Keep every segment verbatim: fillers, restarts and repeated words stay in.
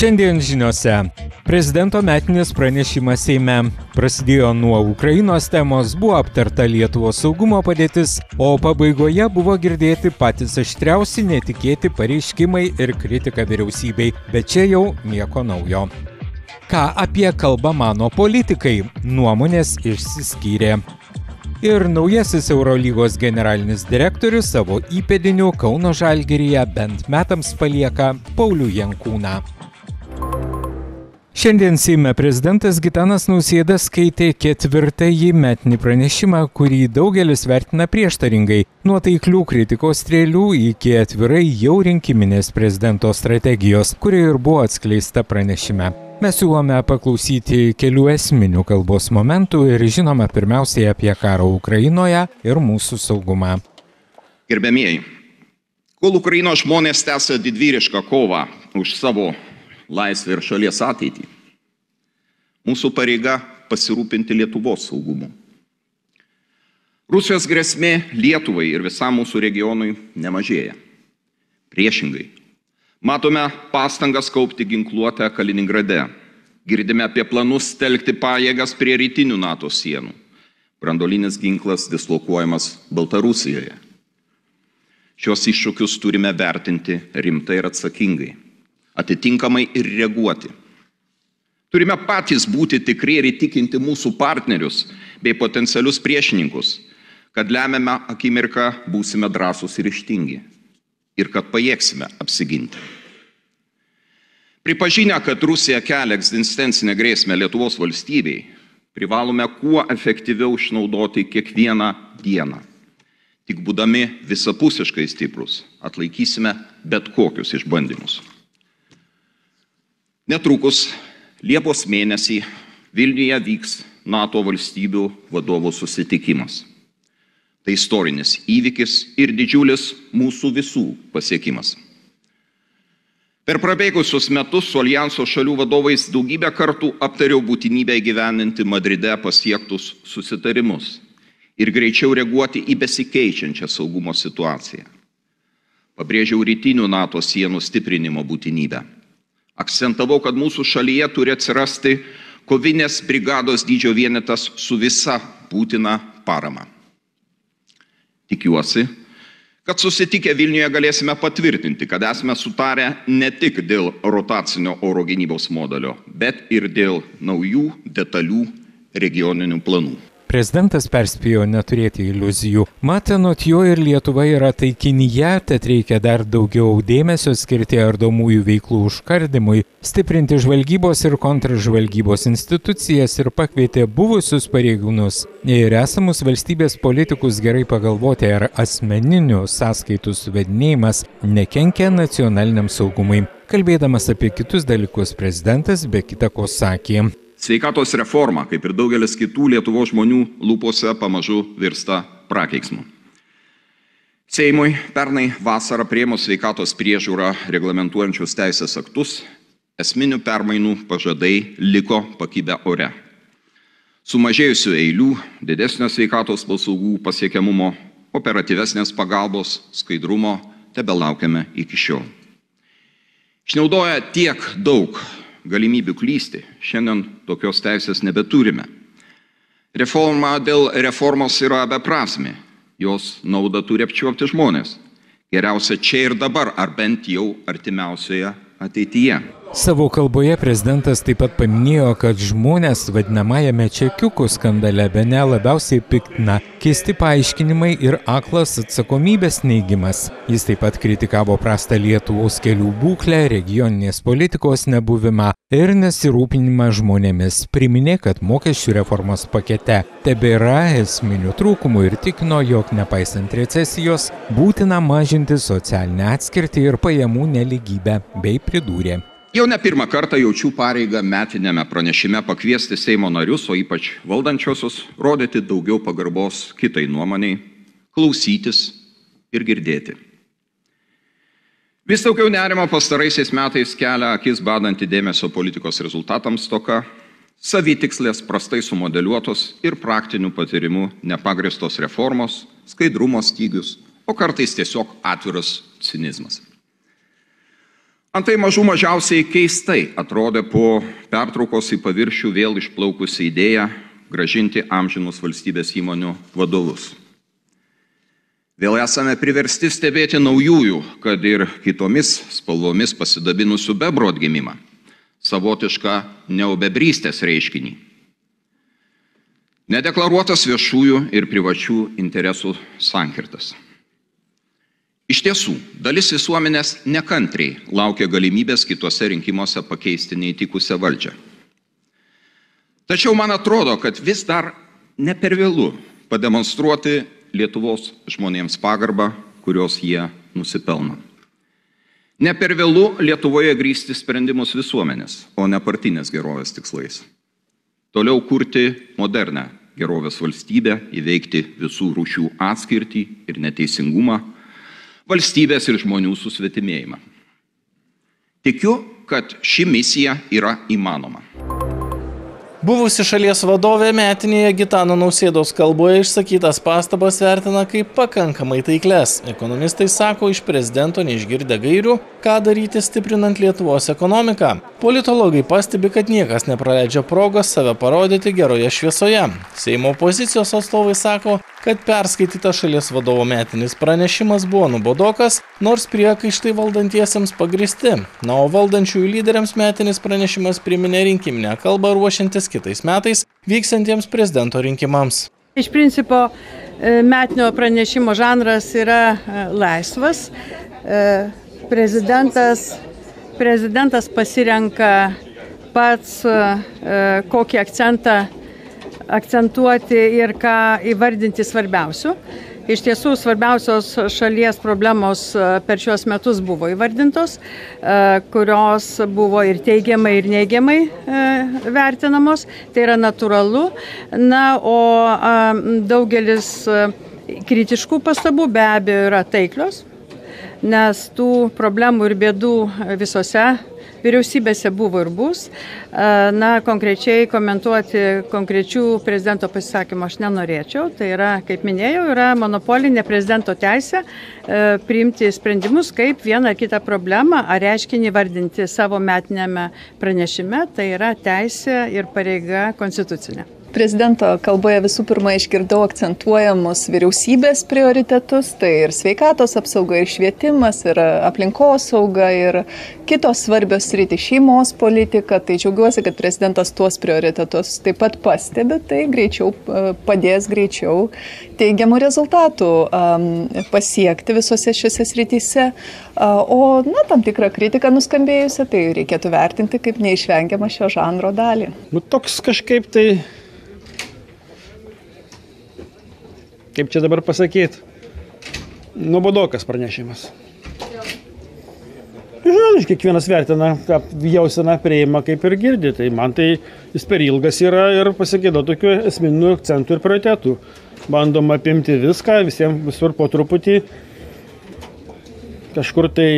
Šiandien žiniose. Prezidento metinis pranešimas Seime. Prasidėjo nuo Ukrainos temos, buvo aptarta Lietuvos saugumo padėtis, o pabaigoje buvo girdėti patys aštriausi netikėti pareiškimai ir kritika vyriausybei, bet čia jau nieko naujo. Ką apie kalbą mano politikai? Nuomonės išsiskyrė. Ir naujasis Eurolygos generalinis direktorius savo įpėdinių Kauno Žalgiryje bent metams palieka Paulių Jankūną. Šiandien Seime prezidentas Gitanas Nausėda skaitė ketvirtąjį metinį pranešimą, kurį daugelis vertina prieštaringai, nuo taiklių kritikos strėlių iki atvirai jau rinkiminės prezidento strategijos, kuri ir buvo atskleista pranešime. Mes siūlome paklausyti kelių esminių kalbos momentų ir žinoma pirmiausiai apie karą Ukrainoje ir mūsų saugumą. Gerbėmieji, kol Ukrainos žmonės tęsia didvyrišką kovą už savo laisvę ir šalies ateitį, mūsų pareiga pasirūpinti Lietuvos saugumu. Rusijos grėsmė Lietuvai ir visam mūsų regionui nemažėja. Priešingai. Matome pastangas kaupti ginkluotę Kaliningrade. Girdime apie planus telkti pajėgas prie rytinių NATO sienų. Branduolinis ginklas dislokuojamas Baltarusijoje. Šios iššūkius turime vertinti rimtai ir atsakingai, atitinkamai ir reaguoti. Turime patys būti tikri ir įtikinti mūsų partnerius bei potencialius priešininkus, kad lemiamą akimirką būsime drąsūs ir ryžtingi. Ir kad pajėgsime apsiginti. Pripažinę, kad Rusija kelia egzistencinę grėsmę Lietuvos valstybei, privalome kuo efektyviau išnaudoti kiekvieną dieną. Tik būdami visapusiškai stiprus, atlaikysime bet kokius išbandymus. Netrukus Liepos mėnesį Vilniuje vyks NATO valstybių vadovų susitikimas. Tai istorinis įvykis ir didžiulis mūsų visų pasiekimas. Per prabėgusius metus su Aljanso šalių vadovais daugybę kartų aptariau būtinybę įgyvendinti Madride pasiektus susitarimus ir greičiau reaguoti į besikeičiančią saugumo situaciją. Pabrėžiau rytinių NATO sienų stiprinimo būtinybę. Akcentavau, kad mūsų šalyje turi atsirasti kovinės brigados dydžio vienetas su visa būtina parama. Tikiuosi, kad susitikę Vilniuje galėsime patvirtinti, kad esame sutarę ne tik dėl rotacinio oro gynybos modelio, bet ir dėl naujų detalių regioninių planų. Prezidentas perspėjo neturėti iliuzijų. Mat, anot jo ir Lietuva yra taikinyje, tad reikia dar daugiau dėmesio skirti ardomųjų veiklų užkardymui, stiprinti žvalgybos ir kontržvalgybos institucijas ir pakvietė buvusius pareigūnus ir esamus valstybės politikus gerai pagalvoti, ar asmeninių sąskaitų suvedinėjimas nekenkia nacionaliniam saugumui. Kalbėdamas apie kitus dalykus, prezidentas be kita ko sakė. Sveikatos reforma, kaip ir daugelis kitų Lietuvos žmonių lūpose, pamažu virsta prakeiksmu. Seimui pernai vasarą priėmus sveikatos priežiūrą reglamentuojančius teisės aktus, esminių permainų pažadai liko pakibę ore. Sumažėjusių eilių, didesnio sveikatos paslaugų pasiekiamumo, operatyvesnės pagalbos, skaidrumo tebelaukiame iki šiol. Išnaudoję tiek daug galimybių klysti, šiandien tokios teisės nebeturime. Reforma dėl reformos yra beprasmė, jos naudą turi apčiuopti žmonės. Geriausia čia ir dabar, ar bent jau artimiausioje ateityje. Savo kalboje prezidentas taip pat paminėjo, kad žmonės vadinamajame čekiukų skandale bene labiausiai piktina keisti paaiškinimai ir aklas atsakomybės neigimas. Jis taip pat kritikavo prastą Lietuvos kelių būklę, regioninės politikos nebuvimą ir nesirūpinimą žmonėmis. Priminė, kad mokesčių reformos pakete tebėra esminių trūkumų ir tikino, jog nepaisant recesijos būtina mažinti socialinę atskirtį ir pajamų nelygybę, bei pridūrė. Jau ne pirmą kartą jaučiu pareigą metinėme pranešime pakviesti Seimo narius, o ypač valdančiosius, rodyti daugiau pagarbos kitai nuomoniai, klausytis ir girdėti. Vis daugiau nerimo pastaraisiais metais kelia akis badanti dėmesio politikos rezultatams stoka, savitikslės prastai sumodeliuotos ir praktinių patyrimų nepagristos reformos, skaidrumo stygius, o kartais tiesiog atviras cinizmas. Antai mažų mažiausiai keistai atrodė po pertraukos į paviršių vėl išplaukusi idėja grąžinti amžinus valstybės įmonių vadovus. Vėl esame priversti stebėti naujųjų, kad ir kitomis spalvomis pasidabinusių bebrų atgimimą, savotišką neobebrystės reiškinį. Nedeklaruotas viešųjų ir privačių interesų sankirtas. Iš tiesų, dalis visuomenės nekantriai laukia galimybės kitose rinkimuose pakeisti neįtikusią valdžią. Tačiau man atrodo, kad vis dar ne per vėlu pademonstruoti Lietuvos žmonėms pagarbą, kurios jie nusipelno. Ne per vėlu Lietuvoje grįsti sprendimus visuomenės, o ne partinės gerovės tikslais. Toliau kurti modernę gerovės valstybę, įveikti visų rūšių atskirtį ir neteisingumą, valstybės ir žmonių susvetimėjimą. Tikiu, kad ši misija yra įmanoma. Buvusi šalies vadovė metinėje Gitano Nausėdos kalboje išsakytas pastabas vertina kaip pakankamai taikles. Ekonomistai sako iš prezidento neišgirdę gairių, ką daryti stiprinant Lietuvos ekonomiką. Politologai pastebi, kad niekas nepraleidžia progos save parodyti geroje šviesoje. Seimo opozicijos atstovai sako, kad perskaitytas šalies vadovo metinis pranešimas buvo nuobodokas, nors priekaištai valdantiesiems pagristi. Na, o valdančiųjų lyderiams metinis pranešimas priminė rinkiminę kalbą ruošiantis kitais metais vyksiantiems prezidento rinkimams. Iš principo metinio pranešimo žanras yra laisvas. Prezidentas, prezidentas pasirenka pats kokį akcentą akcentuoti ir ką įvardinti svarbiausių. Iš tiesų, svarbiausios šalies problemos per šios metus buvo įvardintos, kurios buvo ir teigiamai, ir neigiamai vertinamos. Tai yra natūralu. Na, o daugelis kritiškų pastabų be abejo yra taiklios, nes tų problemų ir bėdų visose vyriausybėse buvo ir bus. Na, konkrečiai komentuoti konkrečių prezidento pasisakymų aš nenorėčiau. Tai yra, kaip minėjau, yra monopolinė prezidento teisė priimti sprendimus, kaip vieną ar kitą problemą ar reiškinį vardinti savo metinėme pranešime. Tai yra teisė ir pareiga konstitucinė. Prezidento kalboje visų pirma išgirdau akcentuojamus vyriausybės prioritetus, tai ir sveikatos apsauga, ir švietimas, ir aplinkosauga, ir kitos svarbios sritys, šeimos politika. Tai džiaugiuosi, kad prezidentas tuos prioritetus taip pat pastebi, tai greičiau padės greičiau teigiamų rezultatų um, pasiekti visose šiose srityse. Uh, o na, tam tikrą kritiką nuskambėjusią, tai reikėtų vertinti kaip neišvengiamą šio žanro dalį. Nu, toks kažkaip tai kaip čia dabar pasakyti, nuobodokas pranešimas. Žinau, kiekvienas vertina, ką jauseną priima, kaip ir girdi. Tai man tai jis per ilgas yra ir pasigėdo tokių esminių akcentų ir prioritetų. Bandom apimti viską, visiems visur po truputį, kažkur tai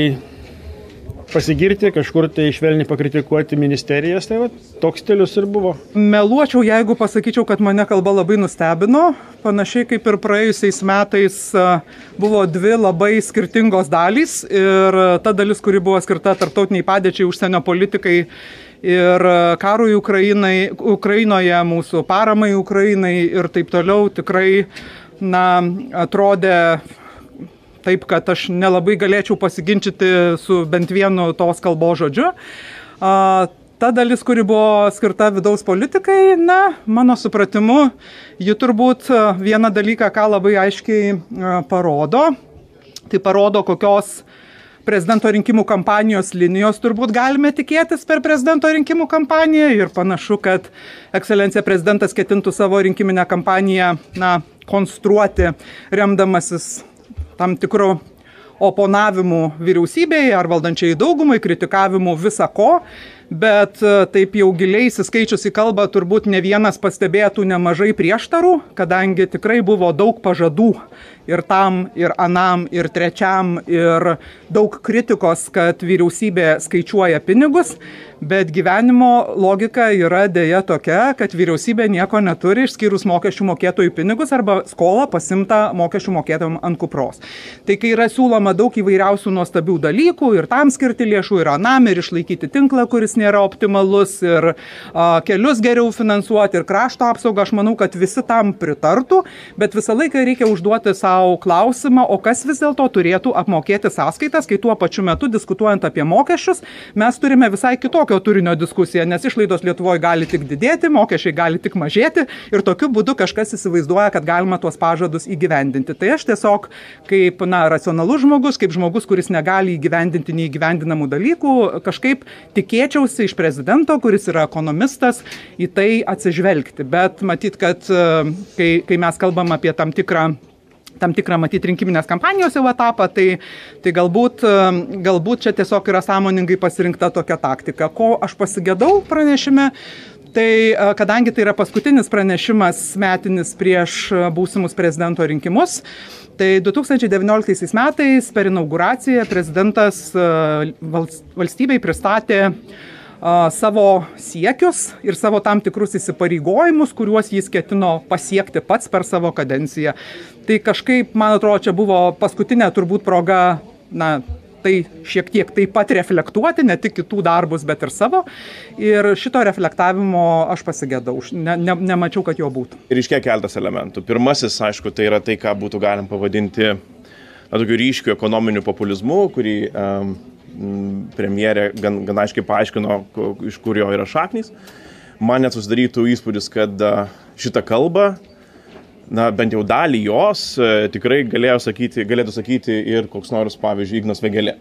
pasigirti, kažkur tai švelniai pakritikuoti ministerijas, tai va, toks stilius ir buvo. Meluočiau, jeigu pasakyčiau, kad mane kalba labai nustebino. Panašiai kaip ir praėjusiais metais buvo dvi labai skirtingos dalys ir ta dalis, kuri buvo skirta tarptautiniai padėčiai, užsienio politikai ir karui Ukrainai, Ukrainoje, mūsų paramai Ukrainai ir taip toliau, tikrai na, atrodė taip, kad aš nelabai galėčiau pasiginčyti su bent vienu tos kalbos žodžiu. A, ta dalis, kuri buvo skirta vidaus politikai, na, mano supratimu, ji turbūt vieną dalyką, ką labai aiškiai a, parodo, tai parodo, kokios prezidento rinkimų kampanijos linijos turbūt galime tikėtis per prezidento rinkimų kampaniją ir panašu, kad ekscelencija prezidentas ketintų savo rinkiminę kampaniją, na, konstruoti remdamasis tam tikrų oponavimų vyriausybėje ar valdančiai daugumai, kritikavimų visa ko, bet taip jau giliai įsiskaičius į kalbą turbūt ne vienas pastebėtų nemažai prieštarų, kadangi tikrai buvo daug pažadų ir tam, ir anam, ir trečiam, ir daug kritikos, kad vyriausybė skaičiuoja pinigus, Bet gyvenimo logika yra dėja tokia, kad vyriausybė nieko neturi išskyrus mokesčių mokėtojų pinigus arba skolą pasimta mokesčių mokėtojams ant kupros. Tai kai yra siūloma daug įvairiausių nuostabių dalykų ir tam skirti lėšų, ir anam, ir išlaikyti tinklą, kuris nėra optimalus, ir a, kelius geriau finansuoti, ir krašto apsaugą, aš manau, kad visi tam pritartų, bet visą laiką reikia užduoti savo klausimą, o kas vis dėlto turėtų apmokėti sąskaitas, kai tuo pačiu metu diskutuojant apie mokesčius, mes turime visai kitokio turinio diskusiją, nes išlaidos Lietuvoje gali tik didėti, mokesčiai gali tik mažėti ir tokiu būdu kažkas įsivaizduoja, kad galima tuos pažadus įgyvendinti. Tai aš tiesiog kaip na, racionalus žmogus, kaip žmogus, kuris negali įgyvendinti neįgyvendinamų dalykų, kažkaip tikėčiausi iš prezidento, kuris yra ekonomistas, į tai atsižvelgti. Bet matyt, kad kai, kai mes kalbam apie tam tikrą tam tikrą matyti rinkiminės kampanijos jau etapą, tai, tai galbūt, galbūt čia tiesiog yra sąmoningai pasirinkta tokia taktika. Ko aš pasigėdau pranešime, tai kadangi tai yra paskutinis pranešimas metinis prieš būsimus prezidento rinkimus, tai du tūkstančiai devynioliktaisiais metais per inauguraciją prezidentas valstybei pristatė savo siekius ir savo tam tikrus įsipareigojimus, kuriuos jis ketino pasiekti pats per savo kadenciją. Tai kažkaip, man atrodo, čia buvo paskutinė turbūt proga, na, tai šiek tiek taip pat reflektuoti, ne tik kitų darbus, bet ir savo. Ir šito reflektavimo aš pasigėdau, ne, ne, nemačiau, kad jo būtų. Ir iškia keltas elementų. Pirmasis, aišku, tai yra tai, ką būtų galim pavadinti na, tokiu ryškiu ekonominiu populizmu, kurį um, premjerė gan, gan aiškiai paaiškino, iš kur jo yra šaknys. Man net susidarytų įspūdis, kad šitą kalbą, na, bent jau dalį jos tikrai galėjo sakyti, galėtų sakyti ir koks nors, pavyzdžiui, Ignas Vėgėlė,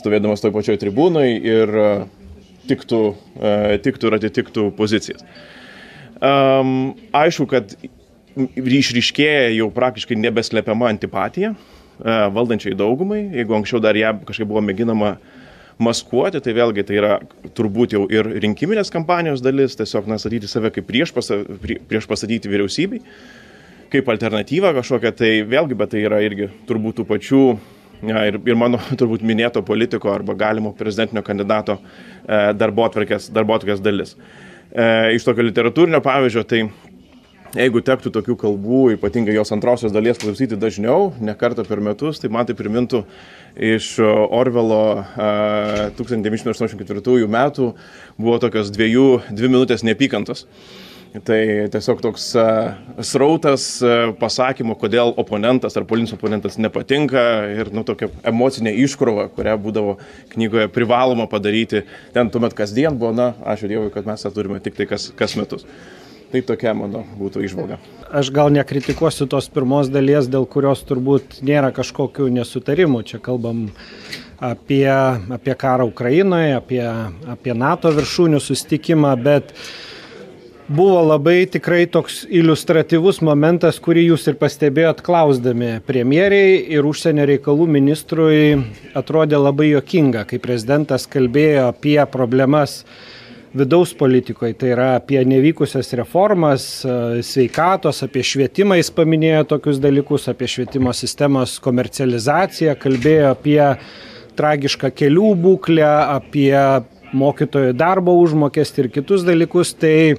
stovėdamas toj pačioj tribūnai ir tiktų, tiktų ir atitiktų pozicijas. Um, aišku, kad išryškėja jau praktiškai nebeslepiama antipatija valdančiai daugumai. Jeigu anksčiau dar ją kažkaip buvo mėginama maskuoti, tai vėlgi tai yra turbūt jau ir rinkiminės kampanijos dalis, tiesiog na, statyti save kaip prieš, pasa, prieš pastatyti vyriausybei, kaip alternatyva kažkokia, tai vėlgi, bet tai yra irgi turbūt tų pačių ja, ir, ir mano turbūt minėto politiko arba galimo prezidentinio kandidato e, darbotvarkės, darbotvarkės dalis. E, iš tokio literatūrinio pavyzdžio, tai jeigu tektų tokių kalbų, ypatingai jos antrosios dalies klausyti dažniau, ne kartą per metus, tai man tai primintų iš Orvelo tūkstantis devyni šimtai aštuoniasdešimt ketvirtųjų metų buvo tokios dviejų, dvi minutės neapykantos. Tai tiesiog toks srautas pasakymų, kodėl oponentas ar politinis oponentas nepatinka ir nu, tokia emocinė iškrova, kurią būdavo knygoje privaloma padaryti. Ten tuomet kasdien buvo, na, ačiū Dievui, kad mes tą turime tik tai kas, kas metus. Tai tokia, mano, būtų įžvalga. Aš gal nekritikuosiu tos pirmos dalies, dėl kurios turbūt nėra kažkokių nesutarimų. Čia kalbam apie, apie karą Ukrainoje, apie, apie NATO viršūnių susitikimą, bet buvo labai tikrai toks iliustratyvus momentas, kurį jūs ir pastebėjot klausdami premjeriai ir užsienio reikalų ministrui atrodė labai juokinga, kai prezidentas kalbėjo apie problemas vidaus politikoje, tai yra apie nevykusias reformas, sveikatos, apie švietimą jis paminėjo tokius dalykus, apie švietimo sistemos komercializaciją, kalbėjo apie tragišką kelių būklę, apie mokytojų darbo užmokestį ir kitus dalykus, tai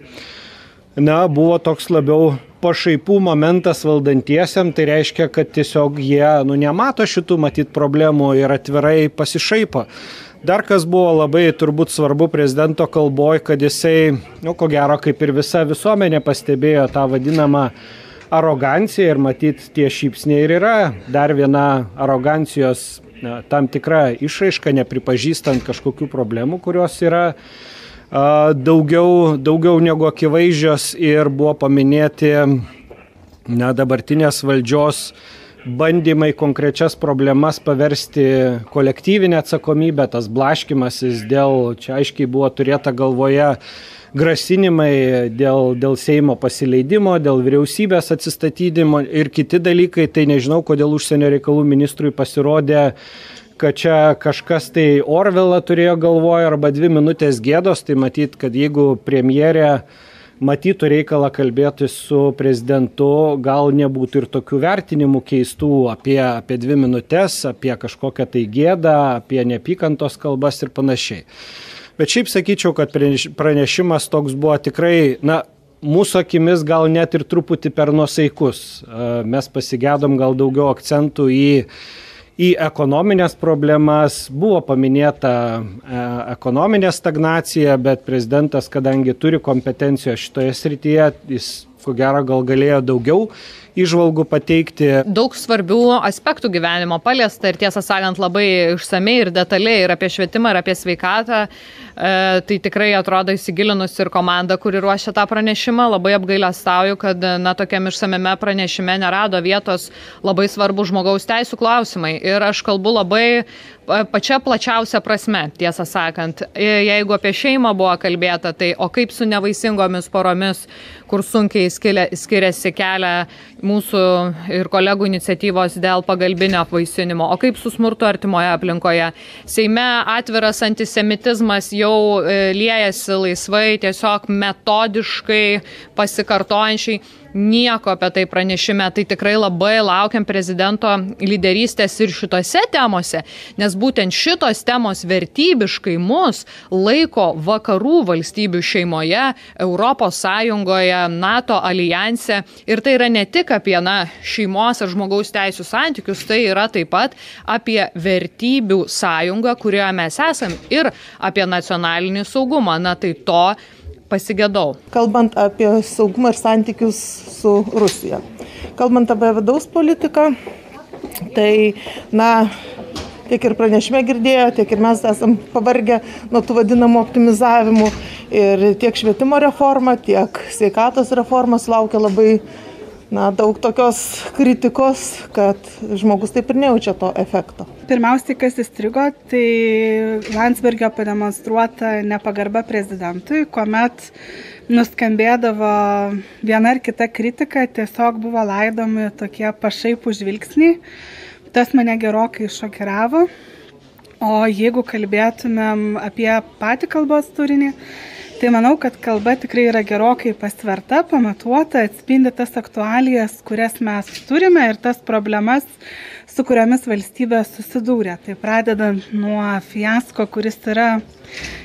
na, buvo toks labiau pašaipų momentas valdantiesiam, tai reiškia, kad tiesiog jie nu, nemato šitų matyt problemų ir atvirai pasišaipo. Dar kas buvo labai turbūt svarbu prezidento kalboj, kad jisai, nu, ko gero, kaip ir visa visuomenė pastebėjo tą vadinamą aroganciją ir matyt tie šypsniai ir yra dar viena arogancijos na, tam tikra išraiška, nepripažįstant kažkokių problemų, kurios yra a, daugiau, daugiau negu akivaizdžios ir buvo paminėti na, dabartinės valdžios bandymai konkrečias problemas paversti kolektyvinę atsakomybę, tas blaškymasis dėl, čia aiškiai buvo turėta galvoje grasinimai dėl, dėl Seimo pasileidimo, dėl vyriausybės atsistatydimo ir kiti dalykai, tai nežinau, kodėl užsienio reikalų ministrui pasirodė, kad čia kažkas tai Orvelą turėjo galvoje arba dvi minutės gėdos, tai matyt, kad jeigu premjerė matytų reikalą kalbėti su prezidentu, gal nebūtų ir tokių vertinimų keistų apie, apie dvi minutės, apie kažkokią tai gėdą, apie neapykantos kalbas ir panašiai. Bet šiaip sakyčiau, kad pranešimas toks buvo tikrai, na, mūsų akimis gal net ir truputį per nuosaikus. Mes pasigedom gal daugiau akcentų į į ekonominės problemas, buvo paminėta e, ekonominė stagnacija, bet prezidentas, kadangi turi kompetencijos šitoje srityje, jis ko gero gal galėjo daugiau įžvalgų pateikti. Daug svarbių aspektų gyvenimo paliesta ir tiesą sakant labai išsamei ir detaliai ir apie švietimą, ir apie sveikatą. E, tai tikrai atrodo įsigilinus ir komanda, kuri ruošia tą pranešimą, labai apgailestauju, kad na, tokiam išsamiame pranešime nerado vietos labai svarbu žmogaus teisų klausimai. Ir aš kalbu labai pačia plačiausia prasme, tiesą sakant. Jeigu apie šeimą buvo kalbėta, tai o kaip su nevaisingomis poromis, kur sunkiai skiriasi kelią mūsų ir kolegų iniciatyvos dėl pagalbinio apvaisinimo, o kaip su smurtu artimoje aplinkoje. Seime atviras antisemitizmas jau liejasi laisvai, tiesiog metodiškai pasikartojančiai. Nieko apie tai pranešime, tai tikrai labai laukiam prezidento lyderystės ir šitose temose, nes būtent šitos temos vertybiškai mus laiko vakarų valstybių šeimoje, Europos Sąjungoje, NATO alijanse ir tai yra ne tik apie na, šeimos ir žmogaus teisų santykius, tai yra taip pat apie vertybių sąjungą, kurioje mes esam ir apie nacionalinį saugumą. Na tai to pasigedau. Kalbant apie saugumą ir santykius su Rusija. Kalbant apie vidaus politiką, tai, na, tiek ir pranešime girdėjo, tiek ir mes esam pavargę nuo tų vadinamų optimizavimų. Ir tiek švietimo reforma, tiek sveikatos reforma sulaukia labai na, daug tokios kritikos, kad žmogus taip ir nejaučia to efekto. Pirmiausiai, kas įstrigo, tai Landsbergio pademonstruota nepagarba prezidentui, kuomet nuskambėdavo viena ar kita kritika, tiesiog buvo laidomi tokie pašaipų žvilgsniai. Tas mane gerokai šokiravo. O jeigu kalbėtumėm apie patį kalbos turinį, tai manau, kad kalba tikrai yra gerokai pasverta, pamatuota, atspindi tas aktualijas, kurias mes turime ir tas problemas, su kuriomis valstybė susidūrė. Tai pradedant nuo fiasko, kuris yra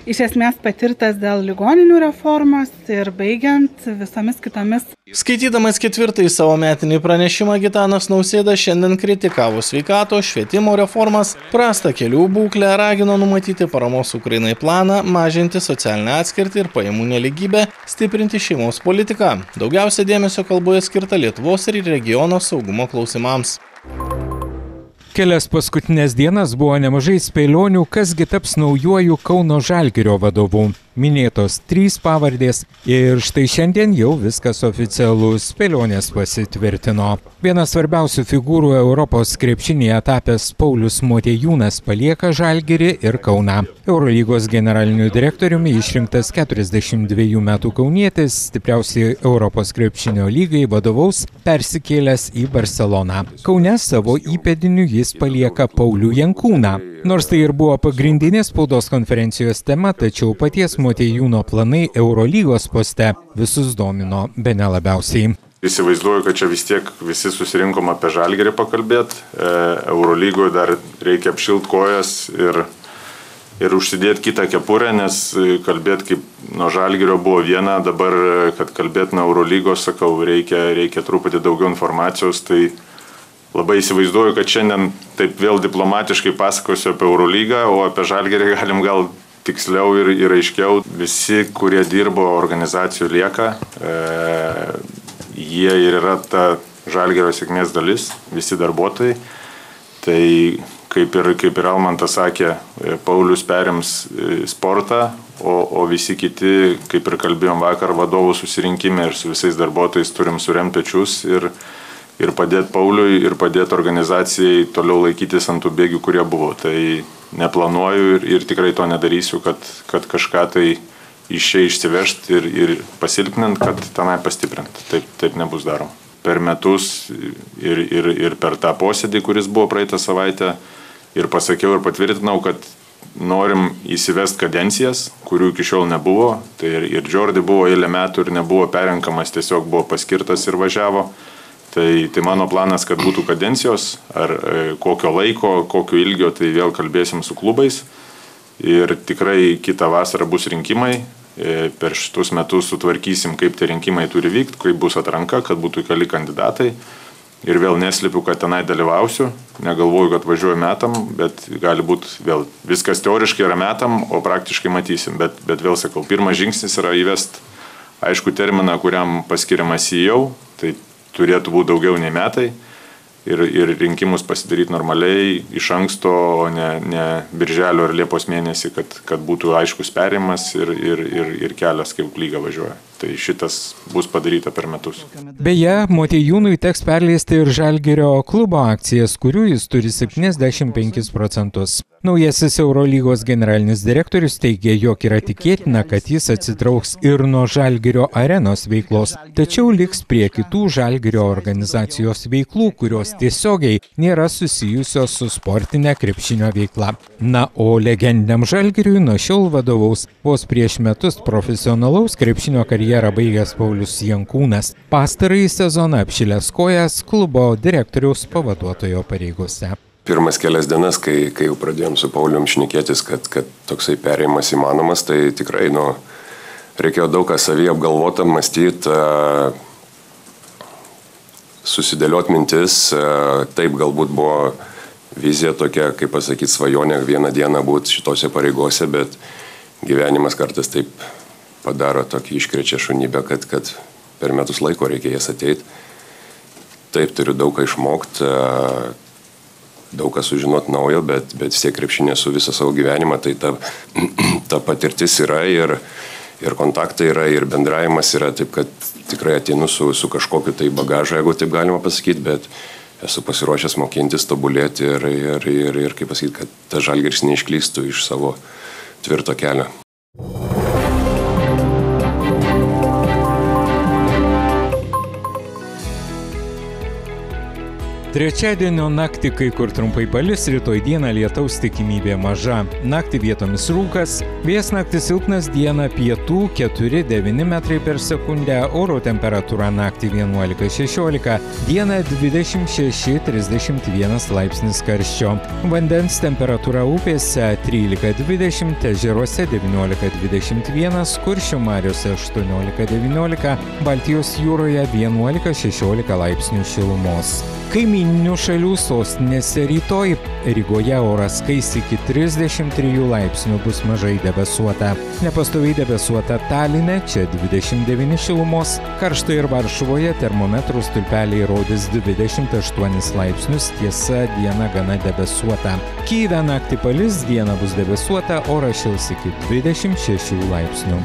iš esmės patirtas dėl ligoninių reformos ir baigiant visomis kitomis. Skaitydamas ketvirtąjį savo metinį pranešimą, Gitanas Nausėda šiandien kritikavo sveikatos, švietimo reformas, prastą kelių būklę, ragino numatyti paramos Ukrainai planą, mažinti socialinę atskirtį ir pajamų nelygybę, stiprinti šeimos politiką. Daugiausia dėmesio kalboje skirta Lietuvos ir regiono saugumo klausimams. Kelias paskutinės dienas buvo nemažai spėlionių, kasgi taps naujuoju Kauno Žalgirio vadovu. Minėtos trys pavardės ir štai šiandien jau viskas oficialu, spėlionės pasitvirtino. Vienas svarbiausių figūrų Europos krepšinėje tapęs Paulius Motiejūnas palieka Žalgirį ir Kauną. Eurolygos generaliniu direktoriumi išrinktas keturiasdešimt dvejų metų kaunietis, stipriausiai Europos krepšinio lygai vadovaus persikėlęs į Barceloną. Kaune savo įpėdiniu jis palieka Paulių Jankūną. Nors tai ir buvo pagrindinė spaudos konferencijos tema, tačiau paties Motiejūno planai Eurolygos poste visus domino bene labiausiai. Įsivaizduoju, kad čia vis tiek visi susirinkom apie Žalgirį pakalbėti. Eurolygoje dar reikia apšilt kojas ir, ir užsidėti kitą kepurę, nes kalbėti kaip nuo Žalgirio buvo viena, dabar, kad kalbėti nuo Eurolygos, sakau, reikia, reikia truputį daugiau informacijos, tai labai įsivaizduoju, kad šiandien taip vėl diplomatiškai pasakosiu apie Eurolygą, o apie Žalgirį galim gal tiksliau ir, ir aiškiau. Visi, kurie dirbo organizacijų lieka, e, jie ir yra ta Žalgirio sėkmės dalis, visi darbuotojai. Tai kaip ir, kaip ir Almantas sakė, Paulius perims sportą, o, o visi kiti, kaip ir kalbėjom vakar vadovų susirinkime ir su visais darbuotojais turim suremti pečius ir ir padėti Pauliui, ir padėti organizacijai toliau laikytis ant tų bėgių, kurie buvo. Tai neplanuoju ir, ir tikrai to nedarysiu, kad, kad kažką tai iš čia išsivežti ir, ir pasilpnint, kad tenai pastiprint. Taip, taip nebus daroma. Per metus ir, ir, ir per tą posėdį, kuris buvo praeitą savaitę, ir pasakiau ir patvirtinau, kad norim įsivest kadencijas, kurių iki šiol nebuvo. Tai ir, ir Jordi buvo eilę metų ir nebuvo perrenkamas, tiesiog buvo paskirtas ir važiavo. Tai, tai mano planas, kad būtų kadencijos, ar e, kokio laiko, kokio ilgio, tai vėl kalbėsim su klubais. ir tikrai kitą vasarą bus rinkimai. Per šitus metus sutvarkysim, kaip tie rinkimai turi vykti, kaip bus atranka, kad būtų keli kandidatai. Ir vėl neslipiu, kad tenai dalyvausiu. Negalvoju, kad važiuoju metam, bet gali būti vėl viskas teoriškai yra metam, o praktiškai matysim. Bet, bet vėl sakau, pirmas žingsnis yra įvest aišku terminą, kuriam paskiriamas C E O, tai turėtų būti daugiau nei metai. Ir, ir rinkimus pasidaryti normaliai iš anksto, o ne, ne birželio ar liepos mėnesį, kad, kad būtų aiškus perėjimas ir, ir, ir, ir kelias, kaip lyga važiuoja. Tai šitas bus padaryta per metus. Beje, Motiejūnui teks perleisti ir Žalgirio klubo akcijas, kurių jis turi septyniasdešimt penkis procentus. Naujasis Eurolygos generalinis direktorius teigia, jog yra tikėtina, kad jis atsitrauks ir nuo Žalgirio arenos veiklos, tačiau liks prie kitų Žalgirio organizacijos veiklų, kurios tiesiogiai nėra susijusios su sportinė krepšinio veikla. Na, o legendiniam Žalgiriui nuo šiol vadovaus vos prieš metus profesionalaus krepšinio karjerą baigęs Paulius Jankūnas. Pastarąjį sezoną apšilęs kojas klubo direktoriaus pavaduotojo pareigose. Pirmas kelias dienas, kai, kai jau pradėjom su Paulium šnekėtis, kad, kad toksai perėjimas įmanomas, tai tikrai nu, reikėjo daug ką savį apgalvotą, mąstyti, susidėlioti mintis. Taip, galbūt buvo vizija tokia, kaip pasakyti, svajonė vieną dieną būti šitose pareigose, bet gyvenimas kartais taip padaro tokį iškrečia šunybę, kad, kad per metus laiko reikia jas ateiti. Taip, turiu daug ką išmokti, daug ką sužinoti naujo, bet, bet vis tiek krepšinė su visą savo gyvenimą, tai ta, ta patirtis yra ir, ir kontaktai yra, ir bendravimas yra, taip kad tikrai ateinu su, su kažkokiu tai bagažu, jeigu taip galima pasakyti, bet esu pasiruošęs mokintis, tobulėti ir, ir, ir, ir kaip pasakyti, kad ta Žalgiris neišklystų iš savo tvirto kelio. Trečiadienio naktį kai kur trumpai palis, rytoj dieną lietaus tikimybė maža. Naktį vietomis rūkas, vėjas naktį silpnas, dieną pietų keturi devyni metrai per sekundę, oro temperatūra naktį vienuolika šešiolika, dieną dvidešimt šeši trisdešimt vienas laipsnis karščio. Vandens temperatūra upėse trylika dvidešimt, ežeruose devyniolika dvidešimt vienas, Kuršių mariose aštuoniolika devyniolika, Baltijos jūroje vienuolika šešiolika laipsnių šilumos. Kaimyninių šalių sostinėse rytoj. Rygoje oras kais iki trisdešimt trijų laipsnių, bus mažai debesuota. Nepastoviai debesuota Taline, čia dvidešimt devyni šilumos. Karšta ir Varšuvoje termometrų stulpeliai rodys dvidešimt aštuonis laipsnius, tiesa, diena gana debesuota. Kyjive naktį palis, diena bus debesuota, oras šils iki dvidešimt šešių laipsnių.